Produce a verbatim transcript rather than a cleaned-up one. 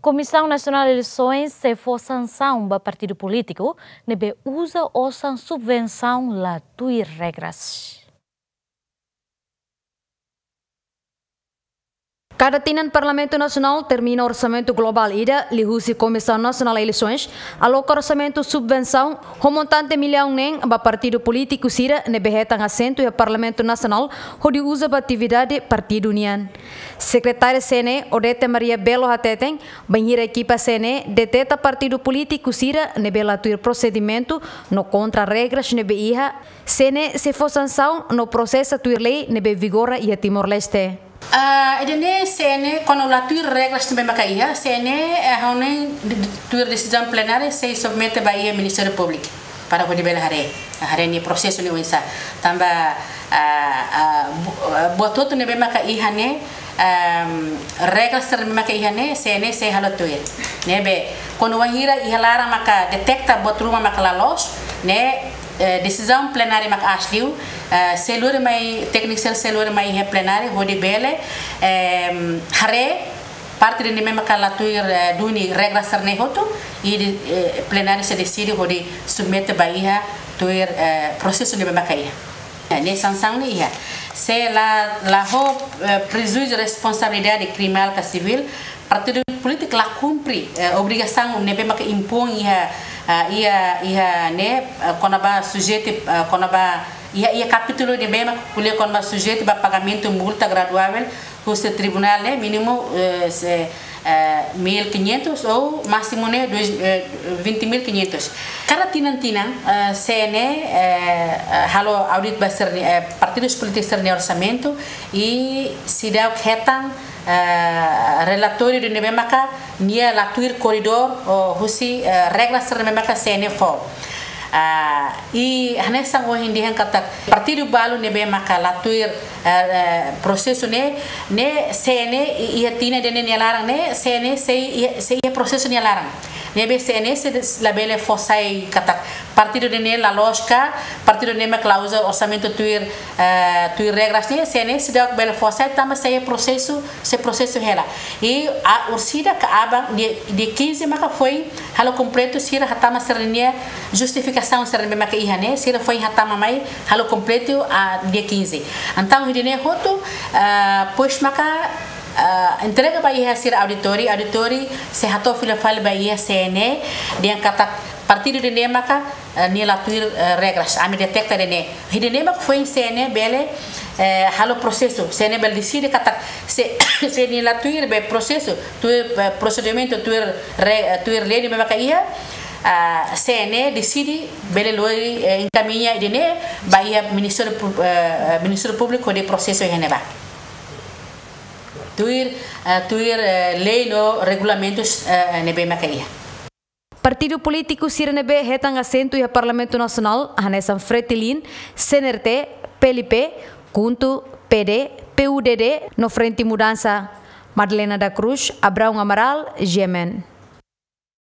Komisaun Nasionál Eleisoens sei fó sansaun ba partidu polítiku ne'ebé uza osan subvensaun la tuir regras. Kada tinan Parlamentu Nasionál termina orsamentu globál ida liuhusi Komisaun Nasionál Eleisoens aloka orsamentu subvensaun ho montante millaun neen ba partidu polítiku sira ne'ebé hetan asentu iha Parlamentu Nasionál hodi uza ba atividade partidu nian. Sekretária C N E, Odete Maria Belo hateten, bainhira ekipa C N E deteta partidu polítiku sira ne'ebé la tuir prosedimentu no kontra regras ne'ebé iha, C N E sei fó sansaun no prosesa tuir lei ne'ebé vigora iha Timor-Leste. Ah, ida-ne'e C N E, kuandu la tuir regras ne'ebé maka iha, C N E, eh, ha'u hanoin de-, de-, tuir desizaun plenária sei submete ba iha Ministériu Públiku para hodi bele haree, haree nia prosesu ne'e oinsá. Tanba, ah, ah, bu-, ah, buat hotu ne'ebé maka iha ne'e, ehm, regras sira ne'ebé maka iha ne'e, C N E sei halo tuir. Ne'ebé, kuandu wainhira iha laran maka deteta buat ruma maka la loos, ne'e, eh, desizaun plenária maka aas liu, eh, sei lori mai, tékniku sira sei lori mai iha plenária hodi bele, ehm, haree parte ida ne'ebé maka la tuir, eh, duni regras sira-ne'e hotu, i de-, eh, plenária sei deside hodi submete ba iha tuir, eh, prosesu ne'ebé maka iha. Eh, ne'e sansaun ne'e iha. Se la, la ho, eh, prejuízu responsabilidade kriminál ka sivíl, partidu polítiku la kumpre, eh, obrigasaun ne'ebé maka impoin iha, ah, iha, iha ne'e, eh, kona-ba sujeita, eh, kona-ba iha, iha kapítulu ne'ebé maka ko'alia kona-ba sujeita ba pagamentu multa graduável husi tribunál ne'e, mínimu, eh, se, eh, mil quinhentos ou másimu ne'e dois, eh, vinte mil quinhentos. Kada tinan-tinan, eh, C N E, eh, eh, halo audit ba sira-nia, eh, partidus polítiku sira-nia orsamentu i seidauk hetan, eh, relatóriu ida ne'ebé maka nia la tuir koridór ou husi, eh, regras sira ne'ebé maka C N E fó. Ah, i hanesan ohin dehan katak partidu balu ne'ebé maka la tuir, eh, eh, prosesu ne'e, ne'e C N E i-, iha tinan ida-ne'e nia laran ne'e, C N E sei iha, sei iha prosesu nia laran. Ne'ebé C N E sei des-, labele fó sai katak partidu ida-ne'e la loos ka, partidu ne'e maka la uza orsamentu tuir, eh, tuir regras ne'e, C N E seidauk bele fó sai tanba sei prosesu, sei prosesu hela. I a orsida ka aban dia, dia quinze maka foin halo kompletu sira hatama sira-nia justifikasaun sira ne'ebé maka iha ne'e, sira foin hatama mai halo kompletu, ah, dia quinze. Entaun ida-ne'e hotu, ah, depois maka, ah, entrega ba iha sira auditóriu, auditóriu sei hato'o fila fali ba iha C N E, dehan katak partidu ida-ne'e maka, eh, nia la tuir, eh, regras, ami deteta ida-ne'e. Ida-ne'e mak foin C N E bele, eh, halo prosesu, C N E bele deside katak se, se nia la tuir be prosesu, tuir, eh, prosedimentu, tuir re-, eh, tuir lei ne'ebé maka iha, ah, C N E deside bele lori, eh, enkamiña ida-ne'e ba iha Ministériu Pú-, eh, Ministériu Públiku hodi prosesu iha ne'ebá. Tuir, eh, tuir, eh, lei no regulamentus, eh, ne'ebé maka iha. Partidu polítiku sira ne'ebé hetan asentu iha Parlamentu Nasionál, hanesan Fretilin, C N R T, P L P, KHUNTO, P D, P U D D, no Frente Mudansa. Madalena da Cruz, Abraão Amaral, G M N.